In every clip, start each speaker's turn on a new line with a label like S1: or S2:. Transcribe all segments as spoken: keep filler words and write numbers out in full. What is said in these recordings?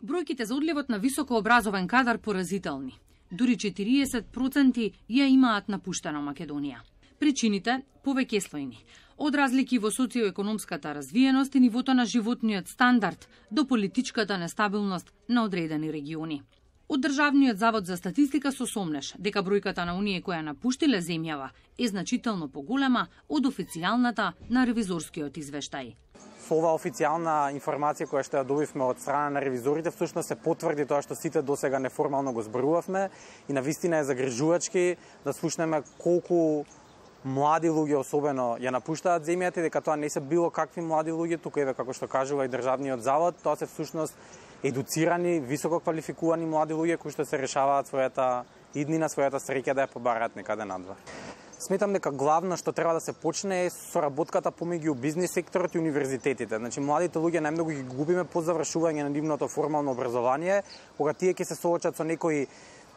S1: Бројките за одливот на високообразован кадар поразителни. Дури четириесет проценти ја имаат напуштена Македонија. Причините повеќе слојни. Од разлики во социоекономската развиеност и нивото на животниот стандард до политичката нестабилност на одредени региони. Од Државниот завод за статистика со сомнеш дека бројката на оние кои ја напуштиле земјава е значително поголема од официјалната на ревизорскиот извештај.
S2: Со ова официјална информација која што ја добивме од страна на ревизорите, всушност се потврди тоа што сите досега неформално го зборувавме и навистина е загрижувачки да слушнеме колку млади луѓе особено ја напуштаат земјата и дека тоа не се било какви млади луѓе, тука еве како што кажува и Државниот завод, тоа се всушност едуцирани, високо квалификувани млади луѓе кои што се решаваат својата иднина, својата среќа да ја побараат некаде надвор. Сметам дека главно што треба да се почне е соработката помеѓу бизнис секторот и универзитетите. Значи младите луѓе најмногу ги губиме по завршување на нивното формално образование, кога тие ќе се соочат со некои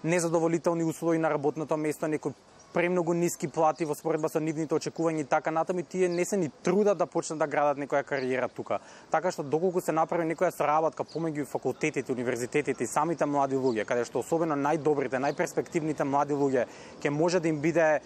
S2: незадоволителни услови на работното место, некои премногу ниски плати во споредба со нивните очекувања и така натаму, тие не се ни трудат да почнат да градат некоја кариера тука. Така што доколку се направи некоја соработка помеѓу факултетите, универзитетите и самите млади луѓе, каде што особено најдобрите, најперспективните млади луѓе ќе може да им биде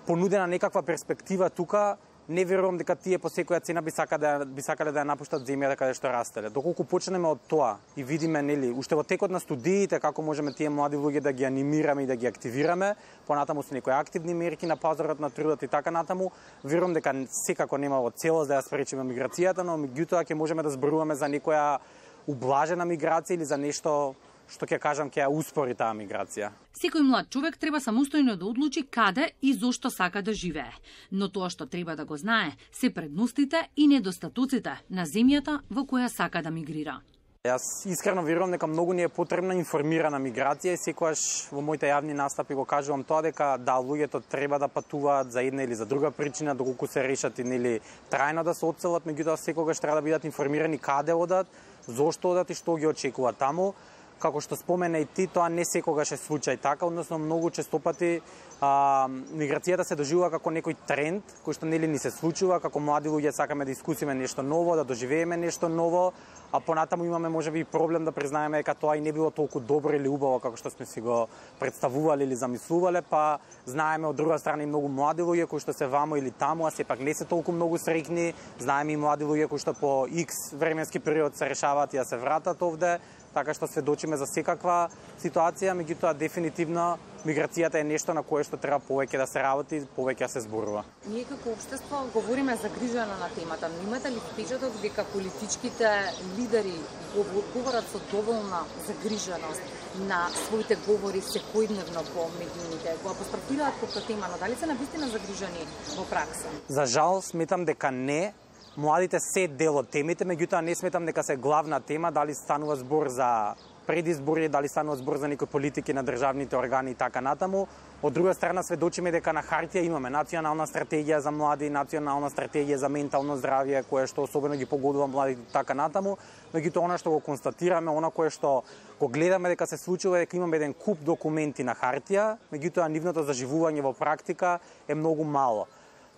S2: понудена некаква перспектива тука, не верувам дека тие по секоја цена би сакале да би сакале да ја напуштат земјата каде што растеле. Доколку почнеме од тоа и видиме нели уште во текот на студиите како можеме тие млади луѓе да ги анимираме и да ги активираме, понатаму со некои активни мерки на пазарот на трудот и така натаму, верувам дека секако нема во целост да ја спречиме миграцијата, но меѓутоа ќе можеме да зборуваме за некоја ублажена миграција или за нешто што ќе кажам ќе ја успори таа миграција.
S1: Секој млад човек треба самостојно да одлучи каде и зошто сака да живее. Но тоа што треба да го знае се предностите и недостатоците на земјата во која сака да мигрира.
S2: Јас искрено верувам дека многу ни е потребна информирана миграција и секогаш во моите јавни настапи го кажувам тоа дека да луѓето треба да патуваат за една или за друга причина, доколку се решат и нели трајно да се одселат, меѓутоа секогаш треба да бидат информирани каде одат, зошто одат и што ги очекува таму. Како што спомена и ти, тоа не секогаш е случај така, односно многу честопати а, миграцијата се доживува како некој тренд, кој што нели ни се случува, како млади луѓе сакаме да искусиме нешто ново, да доживееме нешто ново, а понатаму имаме можеби и проблем да признаеме дека тоа и не било толку добро или убаво како што сме си го представувале или замислувале, па знаеме од друга страна и многу млади луѓе кои што се вамо или таму, а сепак не се толку многу среќни, знаеме и млади луѓе кои што по X временски период се решаваат и да се вратат овде. Така што сведочиме за секаква ситуација, меѓутоа дефинитивно миграцијата е нешто на кое што треба повеќе да се работи, повеќе да се зборува.
S3: Ние како општество говориме загрижено на темата, но имате ли впечаток дека политичките лидери говорат со доволна загриженост на своите говори секојдневно по медиумите, го апострофираат како тема, но дали се навистина загрижени во пракса?
S2: За жал сметам дека не. Младите се дел од темите, меѓутоа не сметам дека се главна тема, дали станува збор за предизбори, дали станува збор за некои политики на државните органи и така натаму. Од друга страна сведочиме дека на хартија имаме национална стратегија за млади, национална стратегија за ментално здравје, која што особено ги погодува младите и така натаму, меѓутоа она што го констатираме, она кое што го гледаме дека се случува е дека имаме еден куп документи на хартија, меѓутоа нивното заживување во практика е многу мало.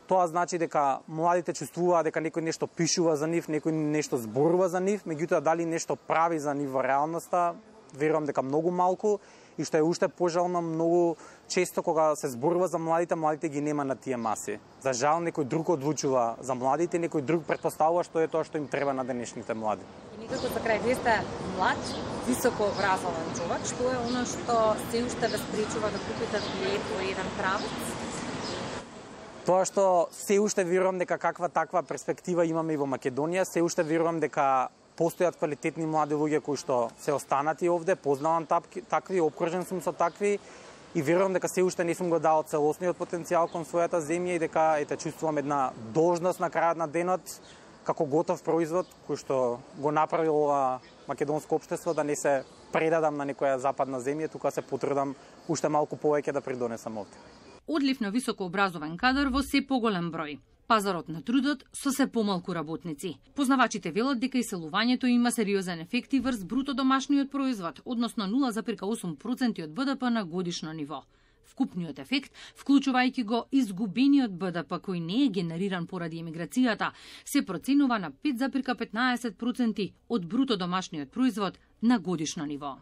S2: Тоа значи дека младите чувствуваат дека некој нешто пишува за нив, некој нешто зборува за нив, меѓутоа дали нешто прави за нив во реалноста, верувам дека многу малку и што е уште пожално, многу често кога се зборува за младите, младите ги нема на тие маси. За жал некој друг одлучува за младите, некој друг претпоставува што е тоа што им треба на денешните млади.
S3: И некако за крај, вие сте млад, високо образован човек, што е она што се уште ве спречува да купите билет во еден правец?
S2: Тоа што се уште верувам дека каква таква перспектива имаме и во Македонија, се уште верувам дека постојат квалитетни млади луѓе кои што се останати овде, познавам такви, обкружен сум со такви и верувам дека се уште не сум го дал целосниот потенцијал кон својата земја и дека ете чувствувам една должност на крајот на денот како готов производ кој што го направил ова македонско општество да не се предадам на некоја западна земја, тука се потрудам уште малку повеќе да придонесам овде.
S1: Одлив на високообразован кадар во се поголем број. Пазарот на трудот со се помалку работници. Познавачите велат дека иселувањето има сериозен ефекти врз бруто домашниот производ, односно нула зарез осум проценти од БДП на годишно ниво. Вкупниот ефект, вклучувајќи го изгубениот Б Д П кој не е генериран поради емиграцијата, се проценува на пет запирка петнаесет проценти од бруто домашниот производ на годишно ниво.